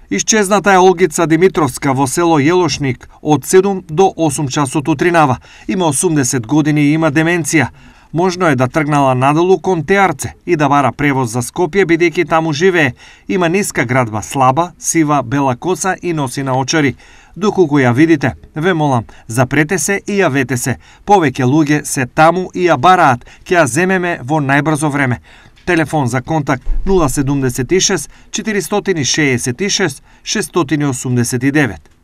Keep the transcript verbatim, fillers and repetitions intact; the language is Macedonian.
Исчезната е Олгица Димитровска во село Јелошник од седум до осум часот утринава. Има осумдесет години и има деменција. Можно е да тргнала надолу кон Теарце и да бара превоз за Скопје, бидејќи таму живее. Има ниска градба, слаба, сива, бела коса и носи наочари. Доколку ја видите, ве молам, запрете се и јавете се. Повеќе луѓе се таму и ја бараат, ќе ја земеме во најбрзо време. Телефон за контакт нула седум шест четири шест шест шест осум девет.